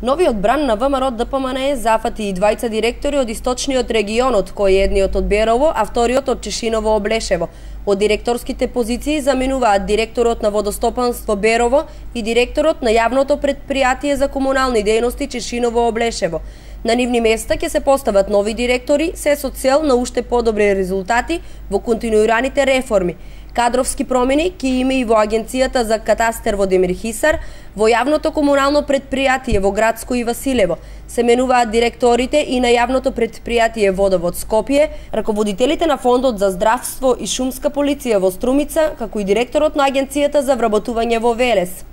Новиот бран на ВМРО ДПМН зафати и двајца директори од источниот регионот, кои едниот од Берово, а вториот од Чешиново Облешево. Од директорските позиции заменуваат директорот на водостопанство Берово и директорот на јавното претпријатие за комунални дејности Чешиново Облешево. На нивни места ќе се постават нови директори, се со цел на уште подобри резултати во континуираните реформи. Кадровски промени ќе има и во Агенцијата за катастер во Демир Хисар, во јавното комунално претпријатие во Градско и Василево. Се менуваат директорите и на јавното претпријатие Водовод Скопје, раководителите на Фондот за здравство и шумска полиција во Струмица, како и директорот на Агенцијата за вработување во Велес.